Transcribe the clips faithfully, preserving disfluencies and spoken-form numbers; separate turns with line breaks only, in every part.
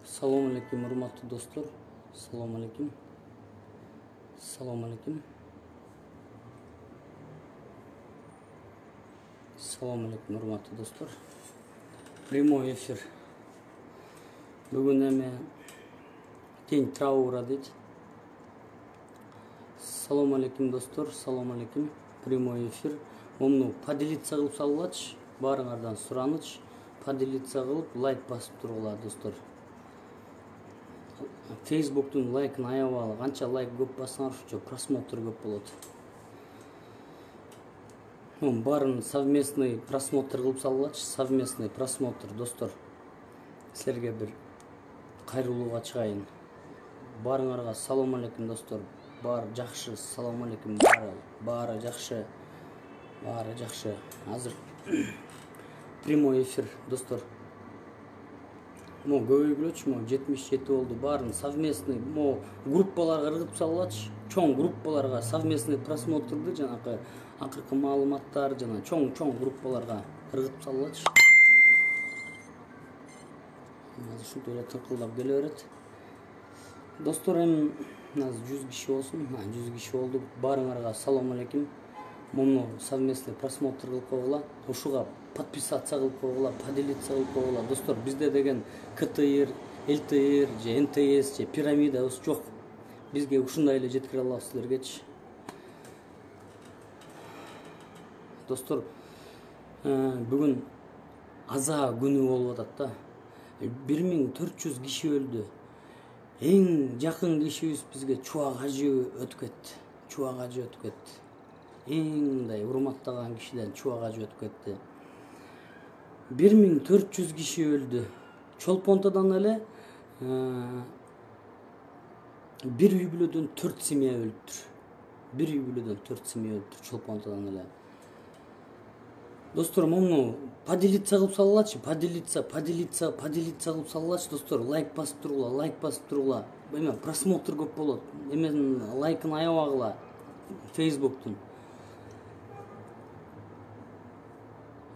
Салом алейкум, урматтуу достор. Салом алейкум. Салом алейкум. Салом алейкум, урматтуу достор. Прямой эфир. Бүгүн эме день траура дейт. Салом алейкум, достор. Салом алейкум. Прямой эфир. Муну поделиться кылып салгылачы. Баарыңардан сураныч. Поделиться кылып, лайк басып тургула, достор. Фейсбуктун лайкын аябалы. Канча лайк көп бассаңар ошончо просмотр көп болот. Мун баарын совместный просмотр кылып салгылачы. Совместный просмотр, достор. Силерге бир кайрылууга чыгайын. Баарыңарга салом алейкум, достор. Баары жакшы. Салом алейкум. Баары, баары жакшы. Баары жакшы. Азыр прямой эфир, достор. Мо көбөйгүлөчү, мо жетимиш жети болду. Баарын совместный, мо группаларга ыргытып салгылачы. Чоң группаларга совместный просмотрду жанакы акыркы маалыматтар жана чоң-чоң группаларга ыргытып салгылачы. Азыр ушинтип эле тыңкылдап келе берет. Достор, эми азыр жүз киши болсун. жүз киши болду. Баарыңарга салом алейкум. Муну совместный просмотр кылып койгула. Ушуга подписаться кылып койгула, поделиться кылып койгула. Достор, бизде деген КТР, ЛТР, же НТС, же пирамидабыз жок. Бизге ушундай эле жеткире алабыз силергечи. Достор, бүгүн аза күнү болуп атат да. бир миң төрт жүз киши өлдү. Эң жакын кишибиз бизге Чубак ажы өтүп кетти. Чубак ажы өтүп кетти. Эң мындай урматтаган кишиден Чубак ажы өтүп кетти. бир миң төрт жүз киши өлдү. Чолпонтодон эле бир үй бүлөдөн төрт семья өлүптүр. Бир үй бүлөдөн төрт семья өлүптүр Чолпонтодон эле. Достор, муну поделиться кылып салгылачы. Поделиться, поделиться, поделиться кылып салгылачы, достор. Лайк басып тургула, лайк басып тургула. Эме просмотр көп болот. Эменин лайкын аябагыла Фейсбуктун.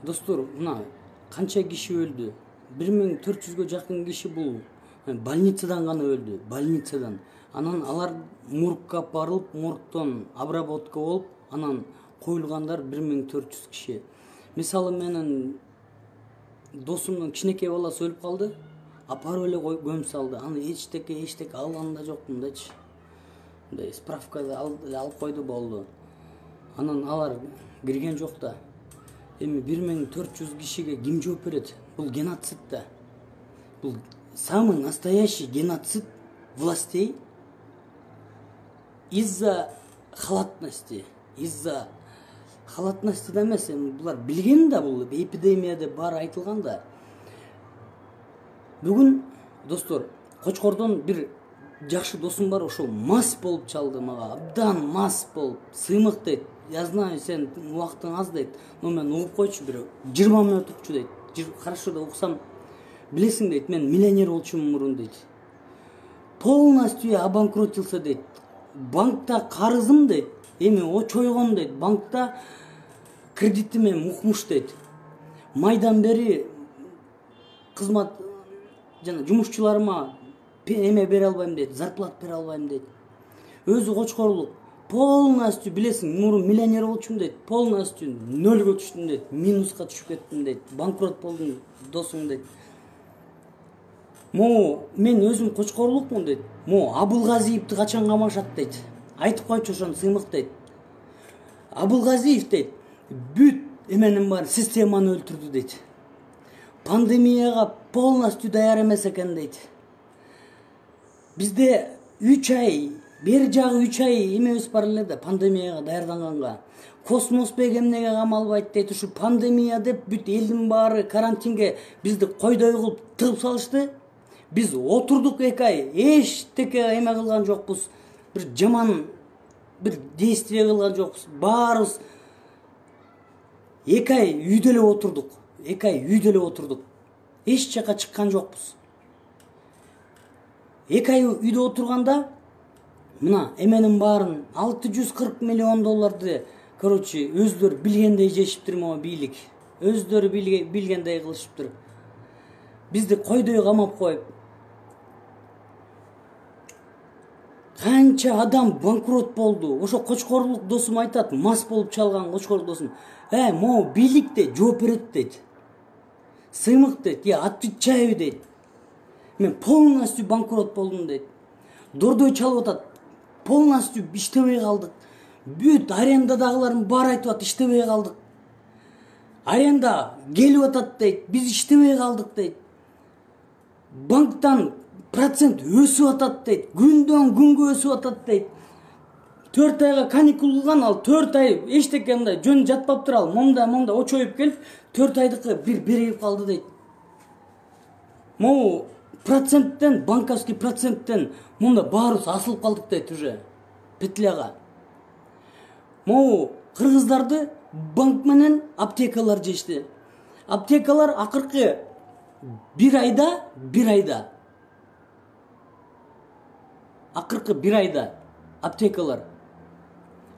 Достор, мына канча киши өлдү? бир миң төрт жүзгө жакын киши бул больницадан гана өлдү. Больницадан. Анан алар моргка барылып, моргтон обработка болуп, анан коюлгандар бир миң төрт жүз киши. Мисалы, менин досумдун кичинекей баласы өлүп калды. Апарып эле көмүп салды. Аны эчтеке, эчтеке алган да жокмун дечи. Мындай справкада алып койду, болду. Анан алар кирген жок да. Эми бир миң төрт жүз кишиге ким жооп берет? Бул геноцид да. Бул самый настоящий геноцид властей из-за халатности, из-за халатности да эмес, булар билген да, бул эпидемия деп баары айтылган да. Бүгүн, достор, Кочкордон бир жакшы досум бар, ошол мас болуп чалды мага, абдан мас болуп, сыймык дейт. Я знаю, сен убактың аз дейт, но мен угуп койчу, бир жыйырма мүнөт укчу дейт. Хорошо да уксам, билесиң дейт, мен миллионер болчумун мурун дейт. Полностью обанкротился дейт. Банкта карызым дейт, эми очойгон дейт. Банкта кредитиме мукмуш дейт. Майдан бери кызмат жана жумушчуларыма эме бере албайм дейт, зарплат бере албайм дейт. Өзү кочкорлук. Полностью, билесиң, мурун миллионер болчумун дейт. Полностью нөлгө түштүм дейт. Минуска түшүп кеттим дейт. Банкрот болдум досуң дейт. Мо мен өзүм кочкорлукмун дейт. Мо Абылгазиевди качан камашат дейт. Айтып койчу ошону, сыймык дейт. Абылгазиев дейт, бүт эменин бар системаны өлтүрдү дейт. Пандемияга полностью даяр эмес экен дейт. Бизде үч ай, бери жагы үч ай эмебиз бар эле да, пандемияга даярданганга. Космоспек эмнеге камалбайт дейт. Ушу пандемия деп бүт элдин баары карантинге бизди койдой кылып тыгып салышты. Биз отурдук эки ай, эчтеке эме кылган жокпуз. Бир жаман бир действие кылган жокпуз. Баарыбыз эки ай үйдө эле отурдук. эки ай үйдө эле отурдук. Эч жака чыккан жокпуз. эки ай үйдө отурганда мына эменин баарын алты жүз кырк миллион долларды, короче, өздөр билгендей жешиптир могу бийлик. өздөрү билгендей кылышыптыр. Бизди койдой камап коюп, канча адам банкрот болду. Ошо кочкорлук досум айтат, мас болуп чалган кочкорлук досум. Э, могу бийликте жооп берет дейт. Сыймык дейт, я отвечаю дейт. Мен полностью банкрот болдум дейт. Дордой чалып атат. Полностью иштебей калдык. Бүт арендадагылардын баары айтып атат, иштебей калдык. Аренда келип атат дейт, биз иштебей калдык дейт. Банктан процент өсүп атат дейт, күндөн күнгө өсүп атат дейт. төрт айга каникул кылган, ал төрт ай эчтеке мындай жөн жатпаптыр, ал момда момда очоюп келип, төрт айдыкы бир берип калды дейт. Могу проценттен, банковский проценттен мында баарыбыз асылып калдык дейт уже. Петляга. Могу кыргыздарды банк менен аптекалар жешти. Аптекалар акыркы бир айда, бир айда. Акыркы бир айда аптекалар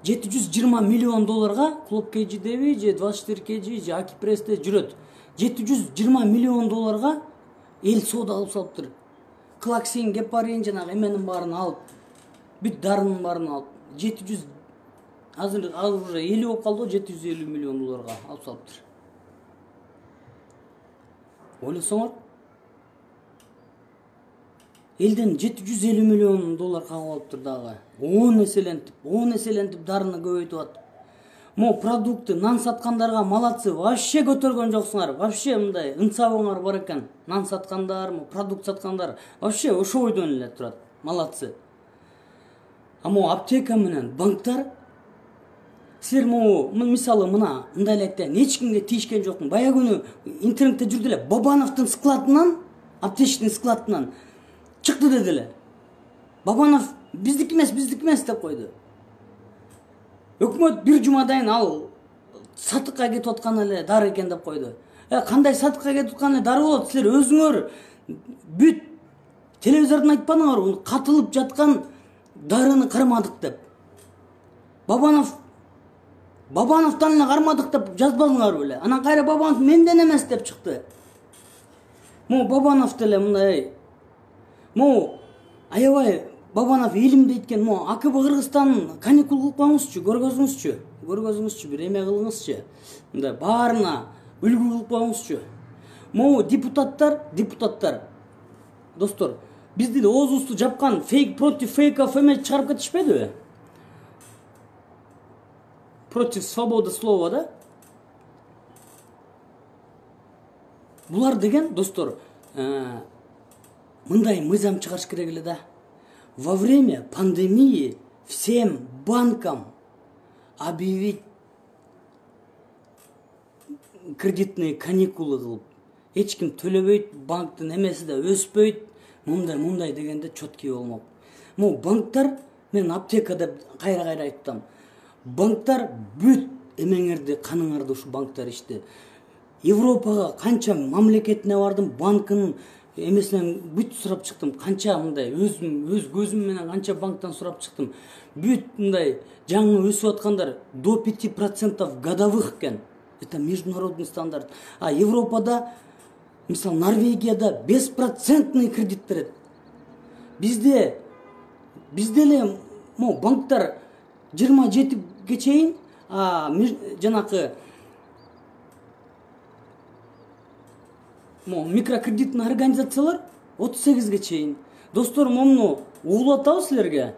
жети жүз жыйырма миллион долларга Клуб КЖдеби же двадцать четыре КЖ же Акипрессте жүрөт. жети жүз жыйырма миллион долларга эл соода кылып салыптыр. Клаксин, гепарин жанагы эменин баарын алып, бүт дарынын баарын алып, жети жүз азыр азыр уже элүү болуп калды, жети жүз элүү миллион долларга алып салыптыр. Ойлосоңор, элден жети жүз элүү миллион доллар кагып алыптыр дагы. он эселентип, он эселентип дарыны көбөйтүп атып. Мо продукты, нан саткандарга малатсы, вообще көтөргөн жоксуңар. Вообще мындай ынсабыңар бар экен. Нан саткандар, продукт саткандар, вообще ошо бойдон эле турат. Малатсы. А мо аптека менен банктар, силер могу мисалы мына мындай эле айтайын, эч кимге тийишкен жокмун. Бая күнү интернетте жүрдү эле, Бабановдун складынан, аптечный складынан чыкты деди эле. Бабанов биздики эмес, биздики эмес деп койду. Өкмөт бир жумадан ал сатыкка кетип аткан эле дары экен деп койду. Э, кандай сатыкка кетип аткан эле дары болот? Силер өзүңөр бүт телевизордон айтпадыңарбы? Катылып жаткан дарыны кармадык деп. Бабанов Бабановдон эле кармадык деп жазбадыңарбы эле? Анан кайра Бабанов менден эмес деп чыкты. Могу Бабанов деле мындай. Могу аябай Бабанов илимди айткен, мо АКБ Кыргызстан каникул кылып коюңузчу, көргөзүңүзчү, көргөзүңүзчү, бир эме кылыңызчы. Мындай баарына үлгү кылып коюңузчу. Могу депутаттар, депутаттар, достор, бизди деле оозубузду жапкан фейк против фейков эме чыгарып кетишпедиби? Против свободы слова, да? Булар деген, достор, мындай мыйзам чыгарыш керек эле да. Во время пандемии всем банкам объявить кредитные каникулы кылып, эч ким төлөбөйт, банктын эмеси да өспөйт, мындай мындай дегенде четкий болмок. Могу банктар, мен аптека деп кайра-кайра айттым. Банктар бүт эмеңерди, каныңарды ушу банктар ичти. Европага канча мамлекетине бардым, банкынын эмесинен бүт сурап чыктым. Канча мындай өзүм өз көзүм менен канча банктан сурап чыктым. Бүт мындай жаңы өсүп аткандар до пяти процентов годовых экен. Это международный стандарт. А Европада, мисал Норвегияда беспроцентный кредит берет. Бизде бизде эле мо банктар жыйырма жетиге чейин, а жанакы мо микрокредитный организациялар отуз сегизге чейин. Достор, момну угулуп атабы силерге?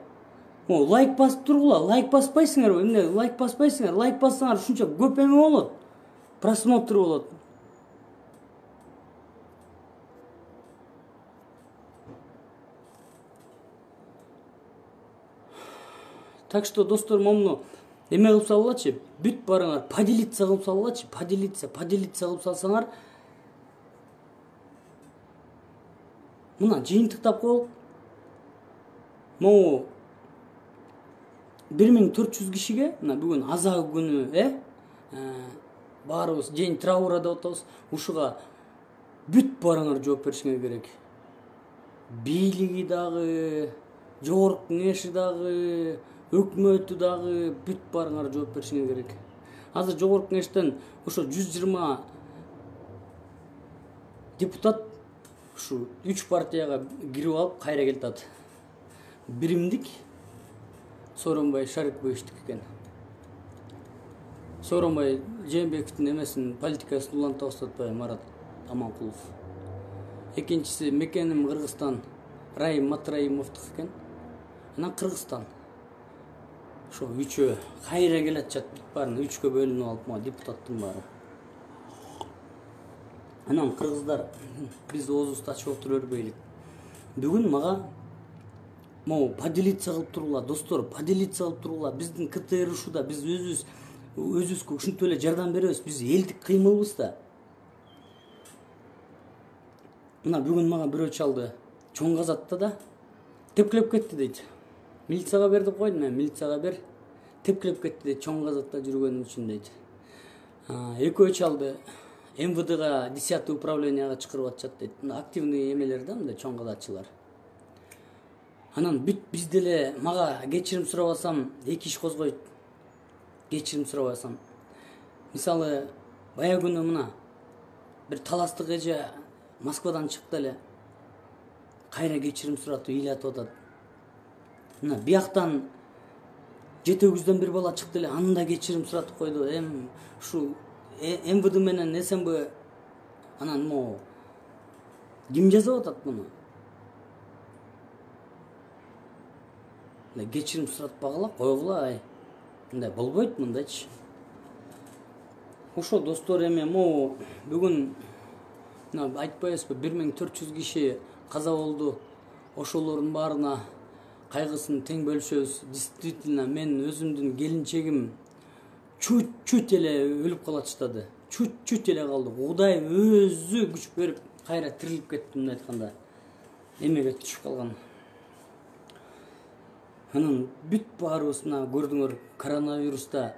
Мо лайк басып тургула, лайк баспайсыңарбы? Эмне лайк баспайсыңар? Лайк бассаңар ушунча көп эме болот. Просмотр болот. Так что, достор, момну эме кылып салгылачы, бүт барыңар поделиться кылып салгылачы, поделиться, поделиться кылып салсаңар, мына жыйынтыктап коелук. Могу бир миң төрт жүз кишиге, мына бүгүн аза күнү, э, баарыбыз день траура деп атабыз. Ушуга бүт барыңар жооп беришиңер керек. Бийлиги дагы, жогорку кеңеши дагы, өкмөтү дагы бүт барыңар жооп беришиңер керек. азыр жогорку кеңештен ошо жүз жыйырма депутат ушу үч партияга кирип алып кайра келатат. Биримдик Сооронбай Шариповичтик экен. Сооронбай Жээнбековдун эмесин политикасын уланта баштатпайбы Марат Аманкулов. Экинчиси мекеним Кыргызстан Раим Матраимовдук экен. Анан Кыргызстан. Ошо үчөө кайра келатчат, бүт баарын үчкө бөлүнүп алып ма депутаттын баары. Анан кыргыздар биз оозубузду ачып отура бербейлик. Бүгүн мага могу поделиться кылып туруңлар, достор, поделиться кылып туруңлар. Биздин КТР ушуда биз өзүбүз өзүбүзгө ушинтип эле жардам беребиз. Биз элдик кыймылбыз да. Мына бүгүн мага бирөө чалды. Чоң Казатта да тепкилеп кетти дейт. Милицияга бер деп койдум мен, милицияга бер. Тепкилеп кетти дейт, Чоң Казатта жүргөнүм үчүн дейт. Экөө чалды. эм вэ дэга десятый управленияга чакырып атышат дейт. Активный эмелер да, мындай чоң казатчылар. Анан бүт биз деле мага кечирим сурабасам, эки иш козгойт. Кечирим сурабасам. Мисалы, бая күнү мына бир таластык эже Москвадан чыкты эле. Кайра кечирим суратып ыйлатып атат. Мына бияктан жети өгүздөн бир бала чыкты эле, аны да кечирим суратып койду. Эм ушу эм вэ дэ менен эс эм бэ анан могу ким жазып атат муну? Кечирим суратпагыла, койгула, ай. Мындай болбойт, мындайчы. Ошо достор, эми могу бүгүн мына айтпайбызбы, бир миң төрт жүз киши каза болду. Ошолордун баарына кайгысын тең бөлүшөбүз. Действительно, мен өзүмдүн келинчегим чуть-чуть эле өлүп калатыштады. Чуть-чуть эле калды. Кудай өзү күч берип кайра тирилип кетти, мындай айтканда. Эмеге түшүп калган. Анан бүт баарыбыз мына көрдүңөр, коронавируста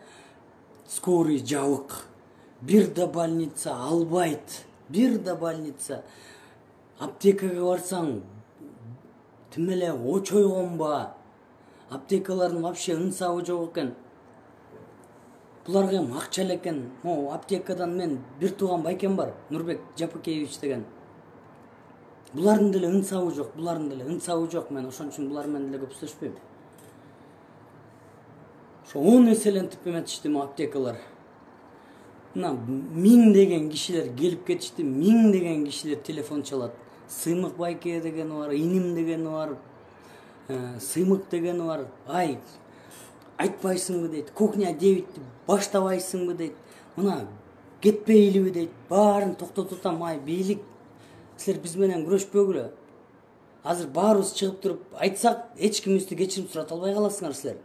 скорый жабык. Бир да больница албайт. Бир да больница. Аптекага барсаң, тим эле очойгонба. Аптекалардын вообще ынсабы жок экен. Буларга эми акча эле экен. Могу аптекадан мен бир тууган байкем бар, Нурбек Жапыкеевич деген. Булардын деле ынсабы жок, булардын деле ынсабы жок. Мен ошон үчүн булар менен деле көп сүйлөшпөйм. Ошо он эселентип эметишти мо аптекалар. Мына миң деген кишилер келип кетишти, миң деген кишилер телефон чалат. Сыймык байке дегени бар, иним дегени бар, сыймык дегени бар. Ай, айтпайсыңбы дейт, кухня девятти баштабайсыңбы дейт. Мына кетпейлиби дейт. Баарын токтотуп атам, ай, бийлик. Силер биз менен күрөшпөгүлө. Азыр баарыбыз чыгып туруп айтсак, эч кимибизди кечирим сурата албай каласыңар силер.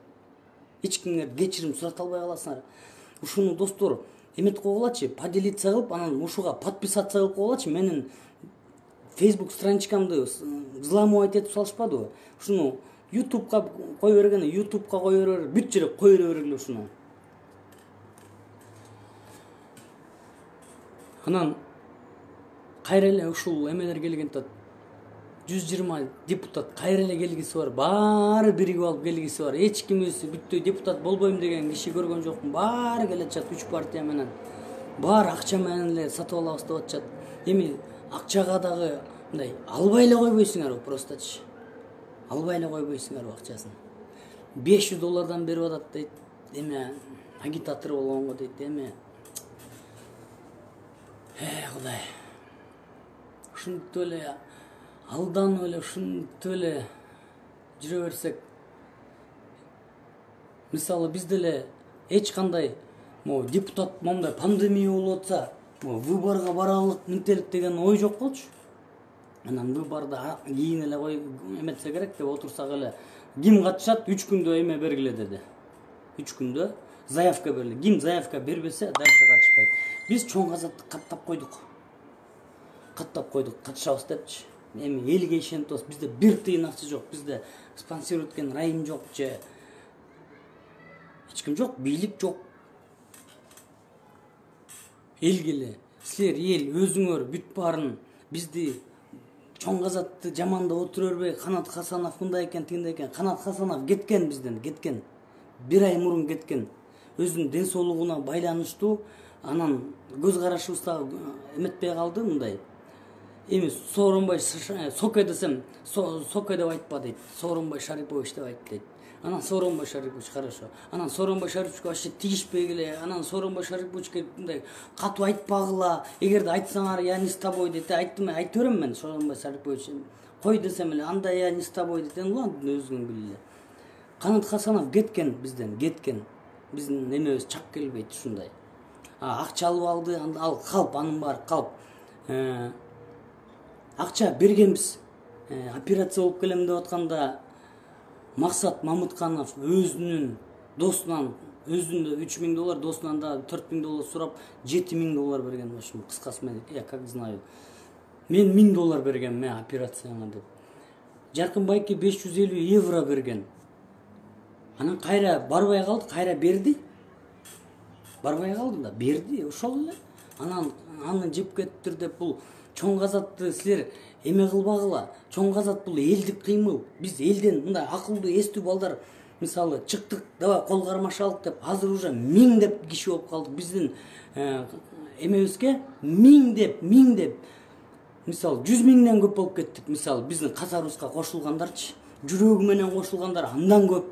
Эч кимге кечирим сурата албай каласыңар. Ушуну достор эметип койгулачы, поделиться кылып, анан ушуга подписаться кылып койгулачы. Менин Facebook страничкамды взламывать этип салышпадыбы? Ушуну YouTube'га кое бергене, YouTube'га кое бергене, бүт жерге кое бергиле ушуну. Анан кайра эле ушул эмелер келген тат. жүз жыйырма депутат кайра эле келгиси бар. Баары биригип алып келгиси бар. Эч кимибиз бүттү депутат болбойм деген киши көргөн жокмун. Баары келатчат үч партия менен. Баары акча менен эле сатып алабыз деп атышат. Эми акчага дагы мындай албай эле койбойсуңарбы просточи. Албай эле койбойсуңарбы акчасын. беш жүз доллардан берип атат дейт. Эме агитатор болгонго дейт. Эме Э, Кудай. Ушинтип эле алданып эле, ушинтип эле жүрө берсек. Мисалы биз деле эч кандай могу депутат момундай пандемия болуп атса, выборго баралык, мынтелик деген ой жок болчу. Анан выборда кийин эле кой эметсе керек деп отурсак эле, ким катышат үч күндө эме бергиле деди. үч күндө заявка бергиле. Ким заявка бербесе, дальше катышпайт. Биз Чоң Казатты каттап койдук. Каттап койдук, катышабыз депчи. Эми элге ишенип атабыз. Бизде бир тыйын акча жок. Бизде спонсор эткен райым жок же эч ким жок, бийлик жок. Элге эле силер эл өзүңөр бүт баарын бизди Чоң Казатты жамандап отура бербей, Канат Хасанов мындай экен, тигиндей экен. Канат Хасанов кеткен бизден, кеткен. Бир ай мурун кеткен. өзүнүн ден соолугуна байланыштуу. Анан көз карашыбыз дагы эметпей калды мындай. Эми Сооронбай Соке десем, Соке деп айтпа дейт. Сооронбай Шарипович деп айт дейт. Анан Сооронбай Шарипович хорошо. Анан Сооронбай Шариповичке вообще тигишпегиле. Анан Сооронбай Шариповичке мындай катуу айтпагыла. Эгерде айтсаңар, я не с тобой дейт. Айттым, айта берем мен Сооронбай Шарипович. Кой десем эле, анда я не с тобой дейт. Улан өзүңүн биле. Канат Хасанов кеткен бизден, кеткен. Биздин эмебиз чак келбейт ушундай. А акча алып алды, ал калп, анын баары калп. Акча бергенбиз. Операция болуп келем деп атканда Максат Мамытканов өзүнүн досунан, өзүндө үч миң доллар, досунан да төрт миң доллар сурап, жети миң доллар берген. Ошо кыскасы мен, я как знаю. Мен миң доллар берген мен операцияңа деп. Жаркын Байке беш жүз элүү евро берген. Анан кайра барбай калды, кайра берди. Барбай калды да, берди, ошол эле. Анан аны жеп кетиптир деп бул чоң казатты силер эме кылбагыла. Чоң казат бул элдик кыймыл. Биз элден мындай акылдуу, эстүү балдар мисалы чыктык, давай кол кармашалык деп, азыр уже миң деп киши болуп калдык. Биздин эмебизге миң деп, миң деп. Мисалы жүз миңден көп болуп кеттик. Мисалы биздин катарыбызга кошулгандарчы, жүрөгү менен кошулгандар андан көп.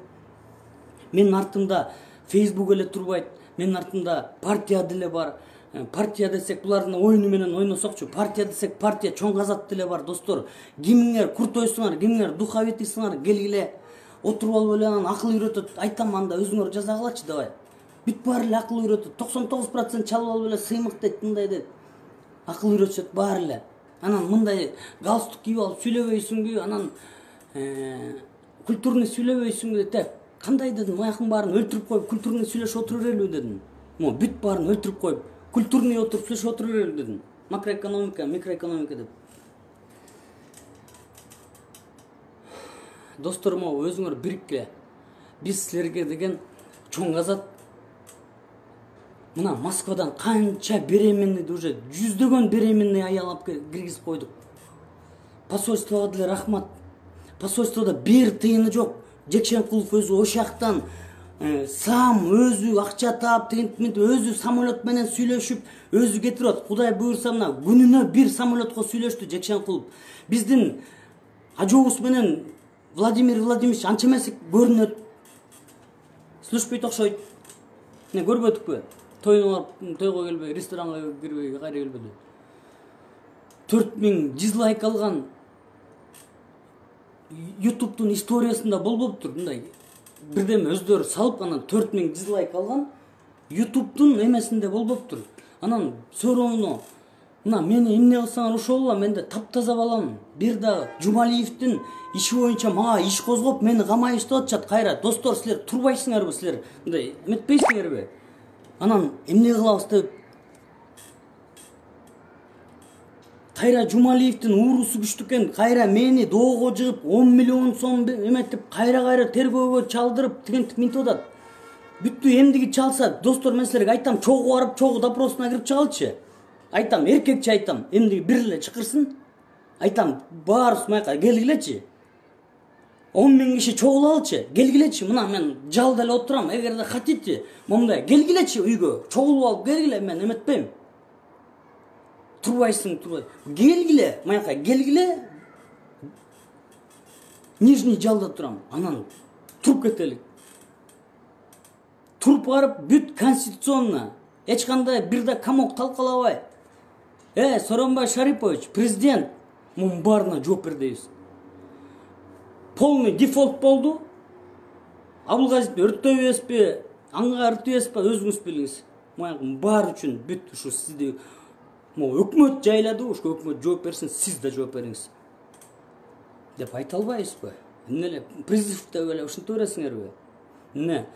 Менин артымда Facebook эле турбайт. Менин артымда партия деле бар. Партия десек булардын оюну менен ойносокчу. Партия десек партия, чоң казат деле бар, достор. Кимиңер куртойсуңар, кимиңер духовитисиңар, келгиле отуруп алып эле анан акыл үйрөтөт. Айтам анда өзүңөр жазагылачы давай. Бүт баары эле акыл үйрөтөт. токсон тогуз процент чалып алып эле сыймык дейт, мындай дейт. Акыл үйрөтөт баары эле. Анан мындай галстук кийип алып сүйлөбөйсүңбү, анан культурный сүйлөбөйсүңбү деп. Кандай дедим, аякын баарын өлтүрүп коюп, культурный сүйлөшүп отура берелби дедим. Мо бүт баарын өлтүрүп коюп, культурный отуруп сүйлөшүп отура берелби дедим. Макроэкономика, микроэкономика деп. Достор, мо өзүңөр бирикке. Биз силерге деген чоң казат. Мына Москвадан канча беременный, уже жүздөгөн беременный аялап киргизип койдук. Посольствого деле рахмат. Посольствода бир тыйыны жок. Жекшенкулов өзү ошактан сам өзү акча таап, тегинтип өзү самолет менен сүйлөшүп, өзү кетирип, Кудай буйрса мына күнүнө бир самолетко сүйлөштү Жекшенкулов. Биздин ажообуз менен Владимир Владимирович анча эмес көрүнөт. Слушпойт окшойт. Не көрбөдүкпү? Тойго тойго келбей, ресторанга кирбей, кайра келбеди. төрт миң дизлайк алган YouTube'дун историясында болбоптур мындай. Бирдеме өздөрү салып, анан төрт миң дизлайк алган YouTube'дун эмесинде болбоптур. Анан сөрөңүнө мына мени эмне кылсаңар ошол эле, менде таптаза балам. Бир дагы Жумалиевдин иши боюнча мага иш козгоп, мени камайып иштеп атышат кайра. Достор, силер турбайсыңарбы, силер мындай эметпейсиңерби? Анан эмне кылабыз деп кайра Жумалиевдин уурусу күчтүү экен, кайра мени доого жыгып он миллион сом эметип, кайра-кайра тергөөгө чалдырып, тигинтип минтип атат. Бүттү эмдиги чалса, достор, мен силерге айтам, чогуу барып, чогуу допросуна кирип чыгалчы. Айтам, эркекче айтам, эмдиги бир эле чакырсын. Айтам, баарыбыз майка келгилечи. он миң киши чогулалычы, келгилечи. Мына мен жалда эле отурам, эгерде хотите, момундай келгилечи үйгө, чогулуп алып келгиле, мен эметпейм. Турбайсың, турбай. Келгиле, майка келгиле. Нижний жалда турам. Анан туруп кетелик. Туруп барып бүт конституционно, эч кандай бир да комок талкалабай. Э, Сооронбай Шарипович, президент, мунун баарына жооп бер дейбиз. Полный дефолт болду. Абылгазиевди өрттөбөйсүзбү, аңга өрттөбөйсүзбү, өзүңүз билиңиз. Мунун баары үчүн бүт ушу сизди мо өкмөт жайлады, ошо өкмөт жооп берсин, сиз да жооп бериңиз. Деп айта албайбызбы? Эмне эле призыв деп эле ушинте бересиңерби? Эмне?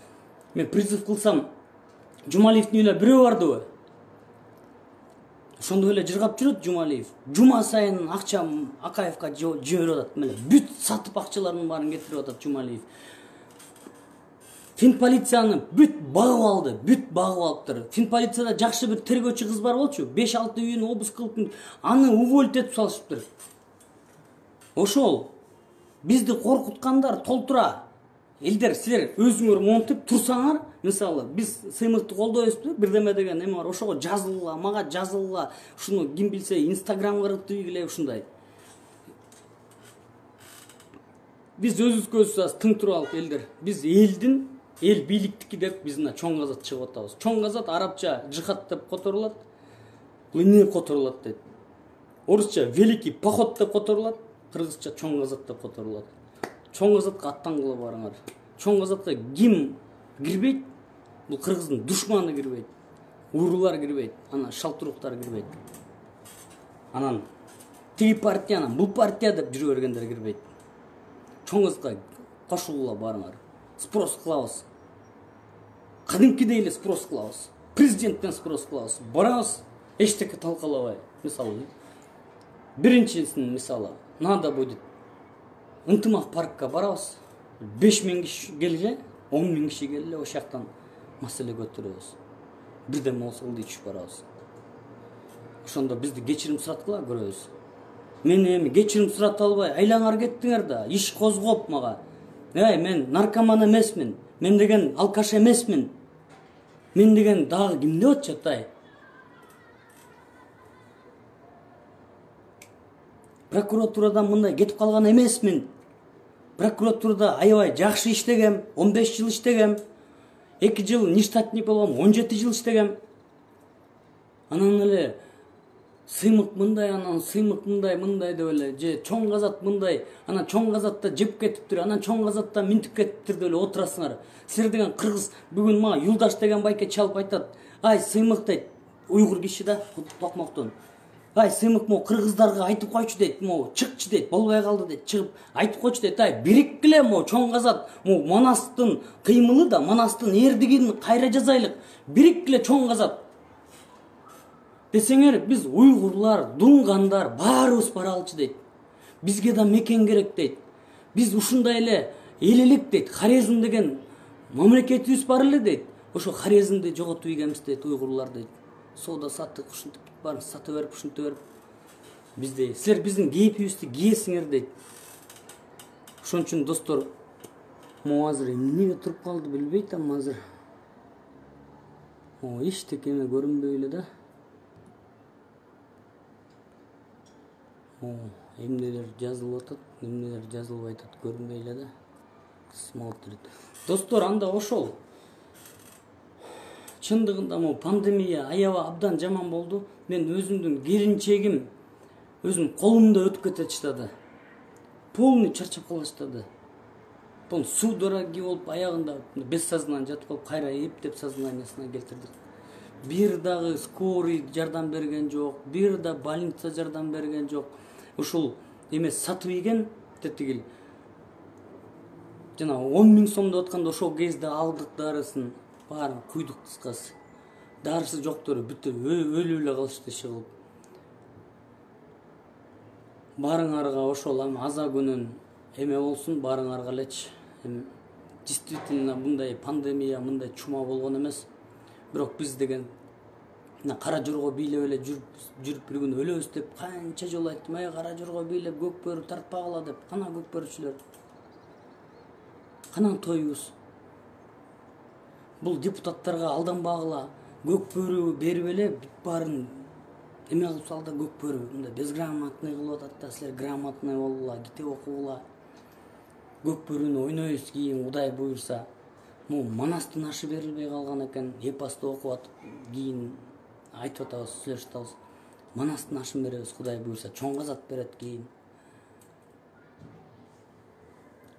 Мен призыв кылсам, Жумалиевдин үйүнө бирөө бардыбы? Ошондой эле жыргап жүрөт Жумалиев. Жума сайын акча Акаевка жиберип атат, мына бүт сатып акчалардын баарын кетирип атат Жумалиев. Финполицияны бүт багып алды, бүт багып алыптыр. Финполицияда жакшы бир тергөөчү кыз бар болчу, беш алты үйүн обыск кылып, аны уволить этип салышыптыр. Ошол бизди коркуткандар толтура. элдер силер өзүңөр монтип турсаңар, мисалы биз сыймыкты колдойбузбу, бирдеме деген эме бар, ошого жазылгыла, мага жазылгыла, ушуну ким билсе Инстаграмга кыргызтыгиле ушундай. Биз өзүбүзгө өзүбүз аз тың туралык элдер. Биз элдин, эл бийликтики деп биз мына чоң казат чыгып атабыз. Чоң казат арабча жихад деп которулат, ыныр которулат дейт. Орусча великий поход деп которулат, кыргызча чоң казат деп которулат. Чоң казатка аттангыла барыңар. Чоң казатка ким кирбейт? Бул кыргыздын душманы кирбейт. Уурулар кирбейт, анан шалтуруктар кирбейт. Анан тиги партиянын бул партия деп жүрө бергендер кирбейт. Чоң казатка кошулгула барыңар. Спрос кылабыз. Кадимкидей эле спрос кылабыз. Президенттен спрос кылабыз. Барабыз, эчтеке талкалабай. Мисалы, биринчисин мисалы, надо будет ынтымак паркка барабыз. беш миң киши келге, он миң киши келе, ошол жактан маселе көтөрөбүз. Бирдеме болсо ылдый түшүп барабыз. Ошондо бизди кечирим сураткыла көрөбүз. Мен эми кечирим сурата албай, айлаңар кеттиңер да, иш козгоп мага. Эй, мен наркоман эмесмин. Мен деген алкаш эмесмин. Мен деген дагы ким деп атышат, ай? Прокуратурадан мындай кетип калган эмесмин. Прокуратурада аябай жакшы иштегем, он беш жыл иштегем. эки жыл нештатник болгом, он жети жыл иштегем. Анан эле сыймык мындай, анан сыймык мындай, мындай деп эле, же чоң казат мындай, анан чоң казатта жеп кетиптир, анан чоң казатта минтип кетиптир деп эле отурасыңар. Силер деген кыргыз бүгүн мага Юлдаш деген байке чалып айтат. Ай, сыймык дейт, уйгур киши да, Токмоктон. Ай, сыймык мо кыргыздарга айтып койчу дейт, мо чыкчы дейт, болбой калды дейт, чыгып айтып койчу дейт. Ай, бириккиле мо чоң казат, мо Манастын кыймылы да, Манастын эрдигин кайра жазайлык. Бириккиле чоң казат. Десеңер, биз уйгурлар, дунгандар баарыбыз баралчы дейт. Бизге да мекен керек дейт. Биз ушундай эле эл элек дейт. Хорезм деген мамлекетибиз бар эле дейт. Ошо Хорезмди жоготуп ийгенбиз дейт уйгурлар дейт. Соода саттык ушинтип барын сата берип, ушинтип берип. Бизде силер биздин кейпибизди кийесиңер дейт. Ошон үчүн достор, mo азыр эмнеге туруп калды билбей атам азыр. О, эчтеке эме көрүнбөй эле да. О, эмнелер жазылып атат, эмнелер жазылбай атат көрүнбөй эле да. Смотрит. Достор, анда ошол. Чындыгында мо пандемия аябай абдан жаман болду. Мен өзүмдүн келинчегим өзүм колумда өтүп кете баштады. Полный чарчап калыштады. Бул судороги болуп аягында без сознания жатып калып, кайра эптеп сознаниясына келтирдик. Бир дагы скорый жардам берген жок, бир да больница жардам берген жок. Ушул эме сатып ийген тетигил. Жана он миң сом деп атканда ошол кезде алдык дарысын, баарын куйдук кыскасы. Дарысы жоктор бүт өлүп эле калышты иши кылып. Барыңарга ошол аза күнүн эме болсун, барыңарга элечи. Действительно мындай пандемия, мындай чума болгон эмес. Бирок биз деген кара жорго бийлеп эле жүрүп жүрүп бир күн өлөбүз деп канча жолу айттым. Ай, кара жорго бийлеп көк бөрү тартпагыла деп. Кана көк бөрүчүлөр. Канан тоюбуз. Бул депутаттарга алданбагыла. Көк бөрү берип эле баарын эме кылып салды, көк бөрү. Мындай безграмотный кылып атат да, силер грамотный болгула, китеп окугула. Көк бөрүнү ойнойбуз кийин Кудай буйрса. Му Манастын ашы берилбей калган экен. Эпосты окуп атып кийин айтып атабыз, сүйлөшүп атабыз. Манастын ашын беребиз Кудай буйрса, чоң казат берет кийин.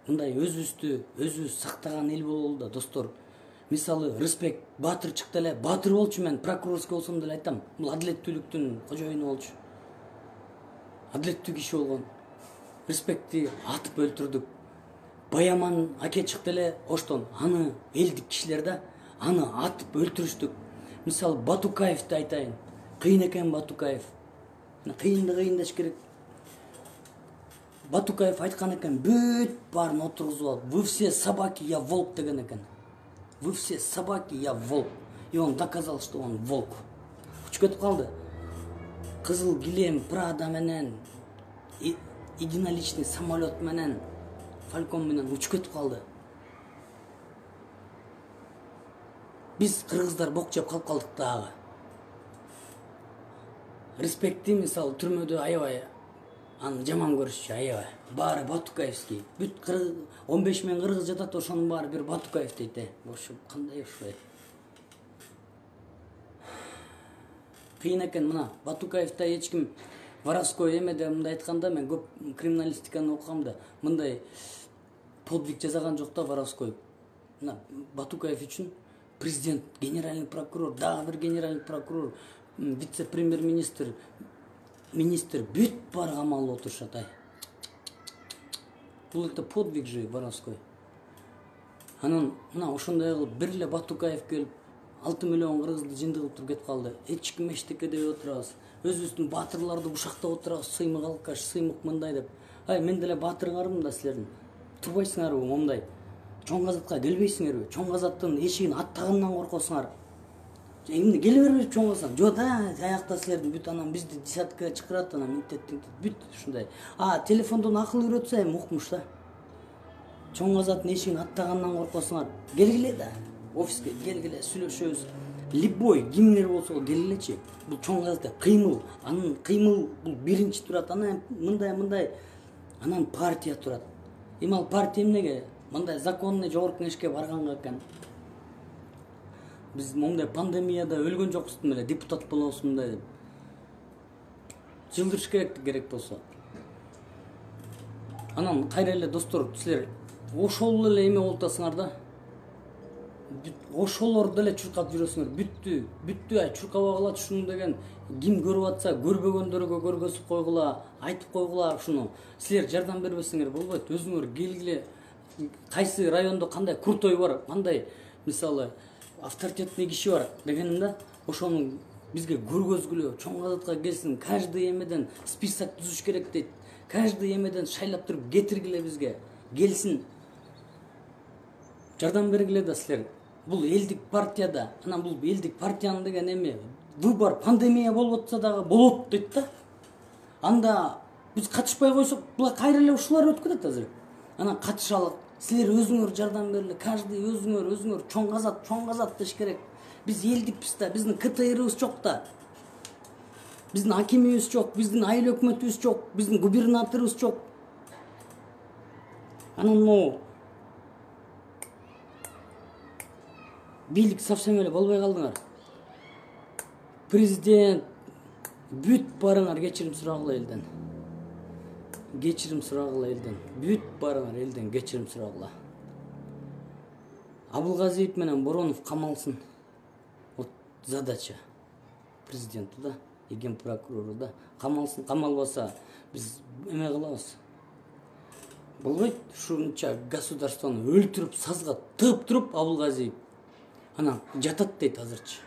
Мындай өзүбүздү өзүбүз сактаган эл бололу да, достор. Мисалы, Рыспек баатыр чыкты эле, баатыр болчу, мен прокурорский болсом деле айтам. Бул адилеттүүлүктүн кожоюну болчу. Адилеттүү киши болгон. Рыспекти атып өлтүрдүк. Баяман аке чыкты эле, оштон аны элдик кишилер да, аны атып өлтүрүштүк. Мисалы, Батукаевди айтайын. Кыйын экен Батукаев. Кыйынды кыйындаш керек. Батукаев айткан экен, бүт баарын отургузуп алып, вы все собаки, я волк деген экен. Вы все собаки, я волк. И он доказал, что он волк. Учуп кетип калды. Кызыл килем, Прада менен, единоличный самолет менен, Фалькон менен учуп кетип калды. Биз кыргыздар бок жеп калып калдык дагы. Респекти мисалы түрмөдө аябай аны жаман көрүшчү, аябай. Баары Батукаевский. Бүт он беш миң кыргыз жатат, ошонун баары бир Батукаев дейт. Ошо кандай ушулай. Кыйын экен мына Батукаевда эч ким воровской эмеде мындай айтканда, мен көп криминалистиканы окугам да, мындай подвиг жасаган жок да воровской. Мына Батукаев үчүн президент, генеральный прокурор, дагы бир генеральный прокурор, вице-премьер-министр, министр бүт бар камалып отурушат. Ай. Бул это подвиг же воровской. Анан мына ошондой кылып бир эле Батукаев келип алты миллион кыргызды жынды кылып туруп кетип калды. Эч ким эчтеке деп отурабыз. Өзүбүздүн баатырларды бушактап отурабыз, сыймык алкаш, сыймык мындай деп. Ай, мен деле баатырыңармын да силердин. Турбайсыңарбы момундай? Чоң казатка келбейсиңерби? Чоң казаттын эшигин аттагандан коркосуңар. Эмне келе бербейт чоң казат? Жок да, аякта силердин бүт анан бизди десяткага чакырат, анан мектептин бүт ушундай. А, телефондон акыл үйрөтсө эми укмуш да. Чоң казаттын эшигин аттагандан коркосуңар. Келгиле да. Офиске келгиле, сүйлөшөбүз. Любой кимдер болсо келгилечи. Бул чоң казатта кыймыл, анын кыймыл бул биринчи турат. Анан мындай мындай анан партия турат. Эми ал партия эмнеге? Мындай законный жогорку кеңешке барганга экен. Биз мындай пандемияда өлгөн жокпузбу эле, депутат болобуз мындай деп. Жылдырыш керек керек болсо. Анан кайра эле достор, силер ошол эле эме болуп атасыңар да. Ошолор деле чуркап жүрөсүңөр. Бүттү, бүттү, ай чуркабагыла ушуну деген ким көрүп атса, көрбөгөндөргө көргөзүп койгула, айтып койгула ушуну. Силер жардам бербесеңер болбойт. Өзүңөр келгиле. Кайсы райондо кандай крутой бар, кандай мисалы авторитетный киши бар дегеним да, ошону бизге көргөзгүлө, чоң казатка келсин, каждый эмеден список түзүш керек дейт. Каждый эмеден шайлап туруп кетиргиле бизге. Келсин. Жардам бергиле да силер. Бул элдик партияда, анан бул элдик партиянын деген эме выбор, пандемия болуп атса дагы болот дейт да. Анда биз катышпай койсок, була кайра эле ушулар өткөрөт азыр. Анан катышалык. Силер өзүңөр жардам бергиле, каждый өзүңөр, өзүңөр чоң казат, чоң казат деш керек. Биз элдикпиз да, биздин КТРыбыз жок да. Биздин акимибиз жок, биздин айыл өкмөтүбүз жок, биздин губернаторубуз жок. Анан могу бийлик совсем эле болбой калдыңар. Президент бүт барыңар кечирим сурагыла элден. Кечирим сурагыла элден. Бүт барыңар элден кечирим сурагыла. Абылгазиев менен Боронов камалсын. Вот задача президенту да, и генпрокурору да. Камалсын, камалбаса биз эме кылабыз. Болбойт ушунча государствону өлтүрүп, сазга тыгып туруп Абылгазиев. Анан жатат дейт азырчы.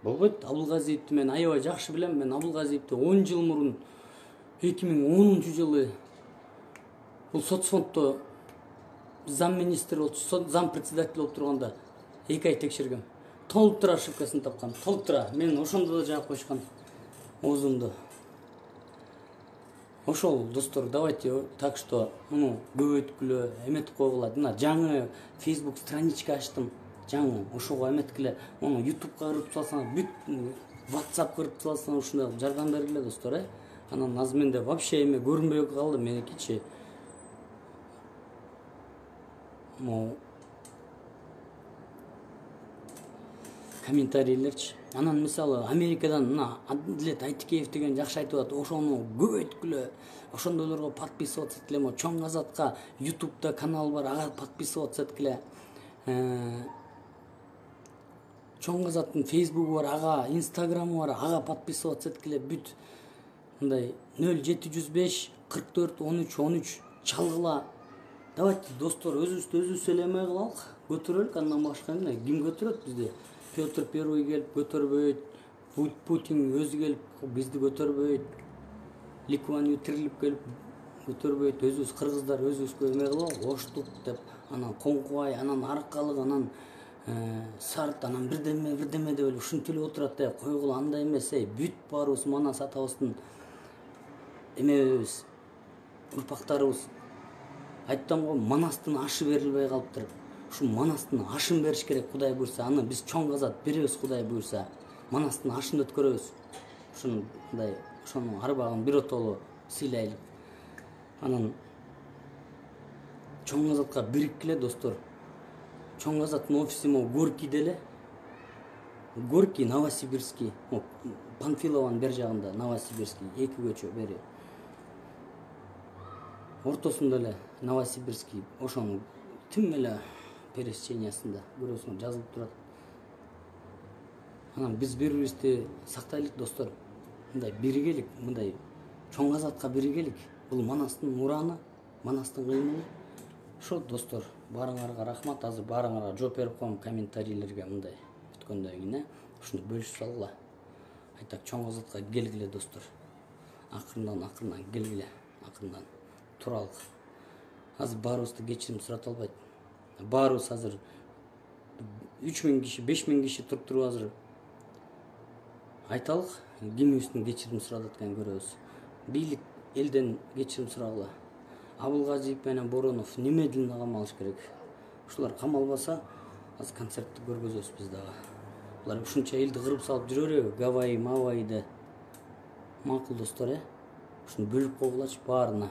Болбойт. Абылгазиевди мен аябай жакшы билем. Мен Абылгазиевди он жыл мурун эки миң онунчу жылы бул соцфонддо зам министр болуп, зам председатель болуп турганда эки ай текшергем. Толуктура ошибкасын тапкан. Толуктура. Мен ошондо да жаап койушкан оозумду. Ошол достор, давайте так что муну көбөйткүлө, эметип койгула. Мына жаңы Facebook страничка ачтым. Жаңы ошого эметкиле, муну YouTubeга кырып салсаңар, бүт WhatsApp кырып салсаңар, ушундай жардам бергиле достор, э. Анан азыр менде вообще эме көрүнбөй калды меникичи. Мо комментарийлерчи. Анан мисалы Америкадан мына Адлет Айтикеев деген жакшы айтып атат. Ошону көбөйткүлө, ошондойлорго подписываться эткиле. Мо чоң казатка YouTube'да канал бар, ага подписываться эткиле. Чоң казаттын Facebook'у бар, ага Instagram'ы бар, ага подписываться эткиле. Бүт мындай нөл жети жүз беш кырк төрт он үч он үч чалгыла. Давайте достор, өзүбүздү өзүбүз эле эме кылалык, көтөрөлүк. Андан башка эмне? Ким көтөрөт бизди? Петр Первый келип көтөрбөйт, Путин өзү келип бизди көтөрбөйт, Ликуанию тирилип келип көтөрбөйт. Өзүбүз кыргыздар өзүбүзгө эме кылалы, оштук деп, анан Коңкубай, анан Аркалык, анан Сарт, анан бирдеме бирдеме деп эле ушинтип отурат деп койгула. Андай эмес, эй, бүт баарыбыз Манас атабыздын эмебиз, урпактарыбыз. Айттым го, Манастын ашы берилбей калыптыр. ушу Манастын ашын бериш керек Кудай буйрса. Аны биз чоң казат беребиз Кудай буйрса. Манастын ашын өткөрөбүз. Ушундай ошонун арбагын бир отолу сыйлайлы. Анан чоң казатка бириккиле достор. Чоң казаттын офиси могу Горькийде эле. Горький, Новосибирский, Панфилованын бер жагында, Новосибирский, эки көчө бери. Ортосунда эле Новосибирский, ошонун тим эле пересечениясында көрөсүңөр жазылып турат. Анан биз бири-бирибизди сактайлык достор. Мындай биригелик, мындай чоң казатка биригелик. Бул Манастын ураны, Манастын кыймылы. Ошо достор, баарыңарга рахмат. Азыр баарыңарга жооп берип коем комментарийлерге мындай өткөндөн кийин. Ушуну бөлүшүп салгыла. Айтак чоң казатка келгиле достор. Акырындан акырындан келгиле, акырындан туралык. Азыр баарыбызды кечирим сурата албайт. Баарыбыз азыр үч миң киши, беш миң киши туруп туруп азыр айталык, кимибиздин кечирим сурап атканын көрөбүз. Бийлик элден кечирим сурагыла. Абылгазиев менен Боронов немедленно камалыш керек. Ушулар камалбаса, аз концертти көргөзөбүз биз дагы. Булар ушунча элди кырып салып жүрө береби? Гавайи, Мавайда. Макул достор, э? Ушуну бөлүп койгулачы баарына.